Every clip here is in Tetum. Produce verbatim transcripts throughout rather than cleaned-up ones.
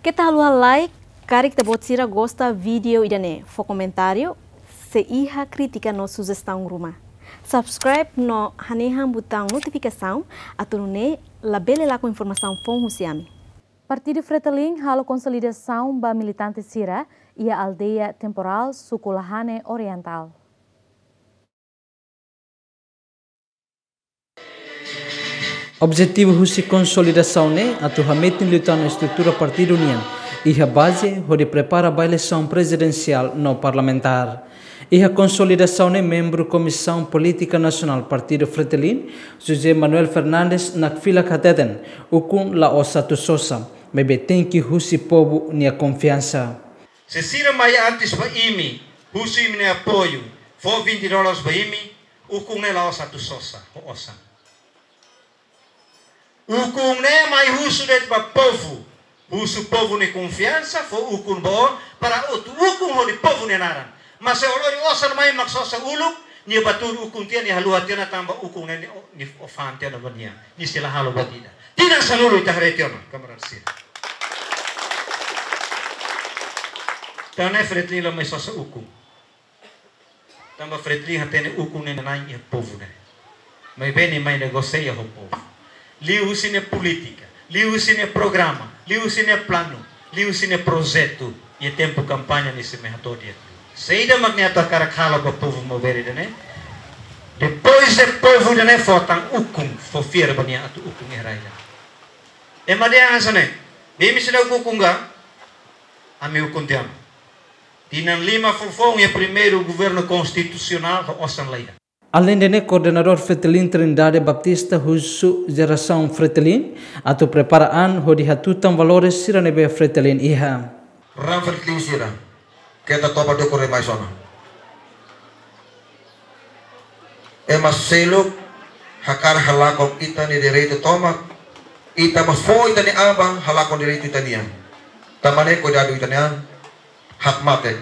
Keta haluha like, karik ita-boot sira gosta vídeo ida-ne'e, fó komentáriu, se iha krítika no sujestaun ruma. Subscribe no hanehan butaun notifikasaun, atu nune'e labele lakon informasaun foun husi ami. Partidu Fretilin halo konsolidasaun ba militante sira iha aldeia Temporal, suku Lahane Orientál. Objetivu husi konsolidasaun ne'e atu hametin liután estrutura partidu nian iha baze hodi prepara ba eleisaun prezidensiál no parlamentár. Iha konsolidasaun ne'e membru Komisaun Polítika Nasionál Partidu Fretilin, José Manuel Fernandes, nakfilak hateten, ukun la'ós atu sosa, maibé tenke husi povu nia konfiansa. Se sira mai antes ba imi, husu imi-nia apoiu, fó vinte dólares ba imi, ukun ne'e la'ós atu sosa ho osan. Ukun ne'e mai husu de'it ba povu, husu povu nia konfiansa, fó ukun ba ó, para atu ukun hodi povu nia naran. Mas se ó lori osan mai mak sosa uluk, nia bá tuur ukun tiha, nia haluha tiha ona, tanba ukun ne'e nia, nia osan tiha ona ba nia, nia sei la halo buat ida. Tinan sanulu ita haree tiha ona, kamarada sira. Entaun ne'e Fretilin la mai sosa ukun. Tanba Fretilin hatene ukun ne'e na'in iha povu ne'e. Maibé nia mai negosia ho povu. Liuhusi nia polítika, liuhusi nia programa, liuhusi nia planu, liuhusi nia projetu, iha tempu kampaña nia sei mai hato'o di'ak. Saida mak nia atu hakarak halo ba povu Maubere ida-ne'e. Depois de povu ida-ne'e fó tan ukun, fó fiar ba nia atu ukun iha rai ida. Ema dehan hanesan ne'e, imi seidauk ukun ka, ami ukun tiha ona. Tinan lima foufoun iha primeiru governu konstitusionál ho osan la iha. Aleinde ne'e, koordenadór Fretilin Trindade Baptista husu jerasaun Fretilin atu prepara an hodi hatutan valores sira ne'ebé Fretilin iha. Ran Fretilin sira, keta toba dukur demais ona. Ema seluk hakarak halakon ita-nia direitu tomak, ita mós fó ita-nia an ba halakon direitu ita-nian. Tanba ne'e kuidadu ita-nia an, hakmatek.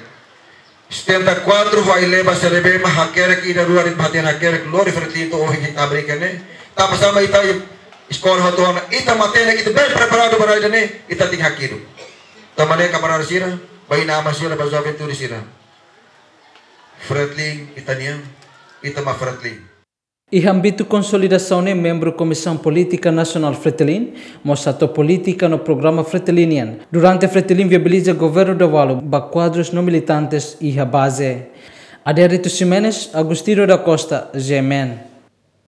Setenta e quatro, ho ai-leba sira ne'ebé mak hakerek ida rua de'it, matenek hakerek, lori Fretilin to'o ohin ita brinka ne'e. Tanba sá mak ita eskola hotu ona, ita matenek, ita bem preparadu ba rai ida-ne'e, ita tenke hakidu. Tanba ne'e kamarada sira, ba inan-aman sira, ba juventude sira. Fretilin ita-nian, ita mak Fretilin. Iha ámbitu konsolidasaun ne'e, membru Komisaun Polítika Nasionál Fretilin mós hato'o polítika no programa Fretilin nian durante Fretilin viabiliza governu Davalu ba kuadrus no militantes iha baze. Adérito Ximenes, Agostinho da Costa, G M N.